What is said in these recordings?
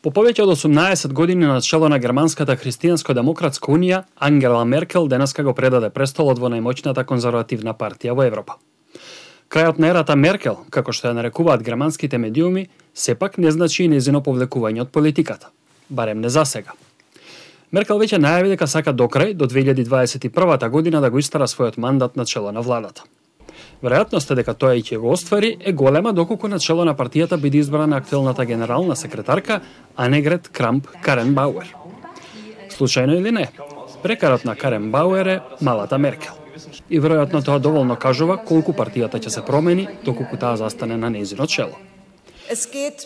По повеќе од 18 години на чело на Германската христијанско-демократска унија, Ангела Меркел денеска го предаде престолот во најмоćната конзервативна партија во Европа. Крајот на ерата Меркел, како што ја нарекуваат германските медиуми, сепак не значи и нејзино повлекување од политиката, барем не за сега. Меркел веќе најави дека сака до крај, до 2021 година, да го истара својот мандат на чело на владата. Веројатноста дека тоа и ќе го оствари е голема доколку на чело на партијата биде избрана актуелната генерална секретарка Анегрет Крамп-Каренбауер. Случајно или не, прекарот на Каренбауер е малата Меркел. И веројатно тоа доволно кажува колку партијата ќе се промени доколку таа застане на нејзино чело.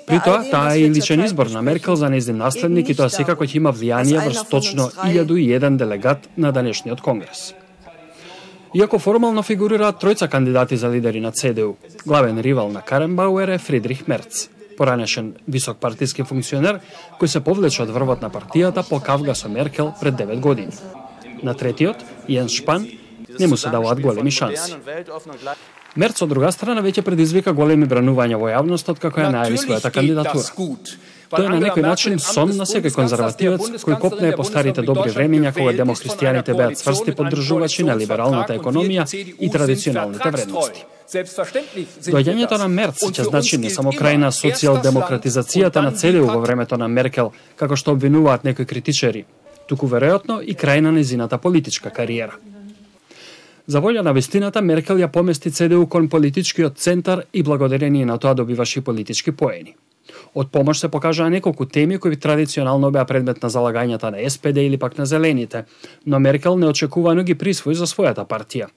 При тоа, таа е и личен избор на Меркел за нејзин наследник и тоа секако ќе има влијание врз точно 1001 делегат на денешниот конгрес. Иако формално фигурираат тројца кандидати за лидери на ЦДУ, главен ривал на Каренбауер е Фридрих Мерц, поранешен висок партиски функционер кој се повлече од врвот на партијата по кавга со Меркел пред 9 години. На третиот, Јенс Шпан, не му се даваат големи шанси. Мерц од друга страна веќе предизвика големи бранувања во јавноста како ја најави својата кандидатура. Тоа е на некој начин сон на секој конзервативец кој копнее по старите добри времења кога демохристијаните беа цврсти поддржувачи на либералната економија и традиционалните вредности. Доаѓањето на Мерц ќе значи не само крај на социјалдемократизацијата на ЦДУ во времето на Меркел, како што обвинуваат некои критичари, туку веројатно и крај на нејзината политичка кариера. За волја на вистината, Меркел ја помести ЦДУ кон политичкиот центар и благодарение на тоа добиваше политички поени. Од помош се покажаа неколку теми кои традиционално беа предмет на залагањата на СПД или пак на Зелените, но Меркел неочекувано ги присвои за својата партија.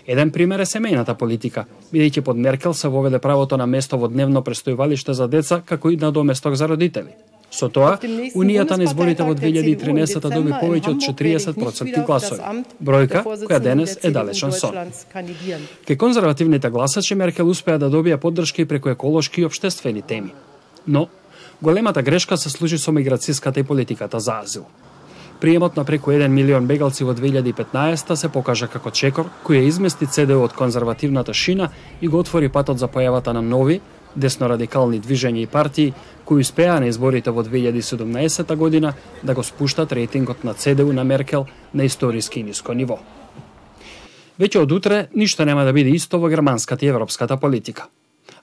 Еден пример е семејната политика, бидејќи под Меркел се воведе правото на место во дневно престојувалиште за деца како и на доместок за родители. Со тоа, Унијата на изборите во 2013 доби повеќе од 40% гласови, бројка која денес е далечен сон. Кај конзервативните гласачи Меркел успеа да добија поддршка и преку еколошки и општествени теми. Но, големата грешка се случи со миграцијската и политиката за азил. Приемот на преку 1 милион бегалци во 2015 се покажа како чекор кој ја измести ЦДУ од конзервативната шина и го отвори патот за појавата на нови, десно-радикални движења и партии кои успеа на изборите во 2017 година да го спуштат рейтингот на ЦДУ на Меркел на историски ниско ниво. Веќе од утре ништо нема да биде исто во германската и европската политика.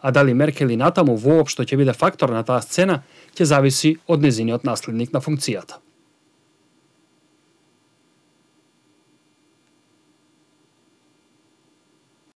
А дали Меркел и натаму воопшто ќе биде фактор на таа сцена, ќе зависи од нејзиниот наследник на функцијата.